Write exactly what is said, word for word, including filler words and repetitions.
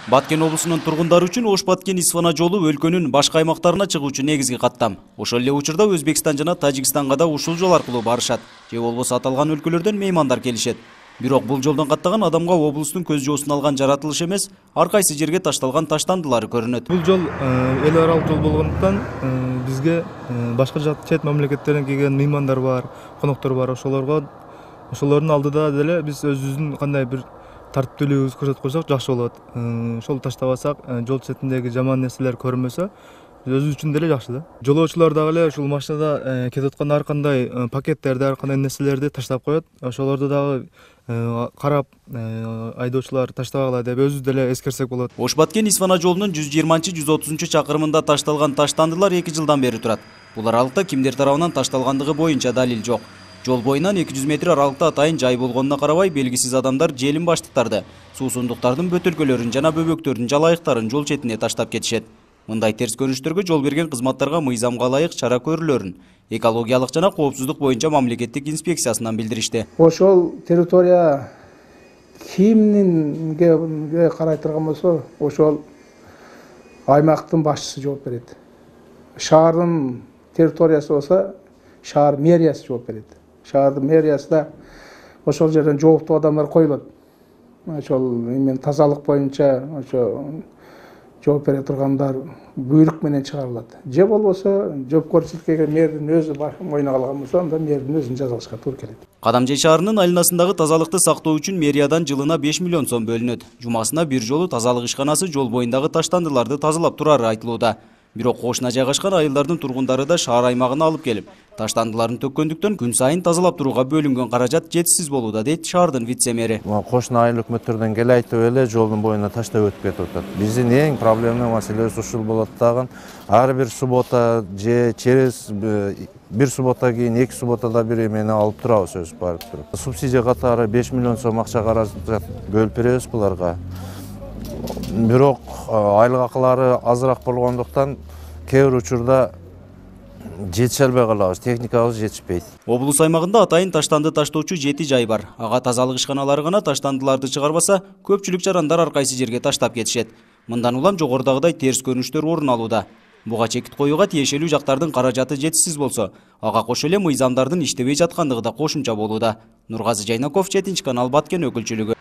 Баткен облусунун тургундары үчүн Ош-Баткен-Исфана жолу өлкөнүн башка аймактарына чыгуучу негизги каттам. Ошол эле учурда Өзбекстан жана Тажикстанга да ушул жол аркылуу барышат, же болбосо аталган өлкөлөрдөн меймандар келишет. Бирок бул жолдон каттаган адамга облустун көз жоосун алган жаратылыш эмес, ар кайсы жерге ташталган таштандылары көрүнөт. Бул жол эл аралык жол болгондуктан бизге башка чет мамлекеттерден келген меймандар бар, коноктор бар. Ошолорго ошолордун алдыда деле биз өзүбүздүн кандай бир тартиптүүлүгүбүздү көрсөтүп койсок жакшы болот. Ошол таштабасак, жол четиндеги жаман нерселер көрүнбөсө, өзүбүз үчүн деле жакшы да. Жолоочулар дагы эле ушул машинада кетип аткан ар кандай пакеттерди, ар кандай нерселерди таштап коет. Ошолорду дагы карап айдоочулар таштабагыла деп өзүбүз деле эскерсек болот. Ош-Баткен-Исфана жолунун жүз жыйырманчы жүз отузунчу чакырымында ташталган таштандылар эки жылдан бери турат. Бул аралыкта кимдер тарабынан ташталгандыгы боюнча далил жок. Жол боюнан эки жүз метр аралыкта атайын жай болгонуна карабай, белгисиз адамдар желим баштыктарды, суусундуктардын бөтөлкөлөрүн жана бөбөктөрдүн жалайыктарын жол четине таштап кетишет. Мындай терс көрүнүштөргө жол берген кызматтарга мыйзамга ылайык чара көрүлөрүн экологиялык жана коопсуздук боюнча мамлекеттик инспекциясынан билдиришти. Ошол территория кимнинге карай турган болсо, ошол аймактын башчысы жооп берет. Шаардын территориясы болсо, шаар мэриясы жооп берет. Шаардын мэриясында ошол жерден жооптуу адамдар коюлат. Ошол эмен тазалык боюнча ошо жооп бере тургандар буйрук менен чыгарылат. Же болбосо жоопкерчиликке мэрдин өзү мойнуна алган болсо, анда мэрдин өзүн жазалашка туура келет. Кадамжай шаарынын айланасындагы тазалыкты сактоо үчүн мэриядан жылына беш миллион сом бөлүнөт. Жумасына бир жолу тазалык ишканасы жол боюндагы таштандыларды тазалап турары айтылууда. Бирок кошуна жайгашкан айылдардын тургундары да шаар аймагына алып келип, таштандыларын төккөндүктөн күн сайын тазалап турууга бөлүнгөн каражат жетишсиз болууда, дейт шаардын вице-мэри. Кошуна айыл өкмөттөрдөн келайтып эле жолдун боюна таштап өтүп кетип атат. Биздин эң проблема маселебиз ушул болот дагы. Ар бир суббота же через бир суббота кийин эки субботада бир эмени алып турабыз өзүбүз барып туруп. Субсидия катары беш миллион сом акча каражат бөлүп беребиз буларга. Бирок айлык акылары азыраак болгондуктан кээ бир учурда жетише албай калабыз, техникабыз жетишпейт. Облус аймагында атайын таштанды таштоочу жети жай бар. Ага тазалык ишканалары гана таштандыларды чыгарбаса, көпчүлүк жарандар ар кайсы жерге таштап кетишет. Мындан улам жогорудагыдай терс көрүнүштөр орун алууда. Буга чекит коюуга тиешелүү жактардын каражаты жетишсиз болсо, ага кошо эле мыйзамдардын иштебей жаткандыгы да кошумча болууда. Нургазы Жайнаков, жетинчи канал, Баткен өкүлчүлүгү.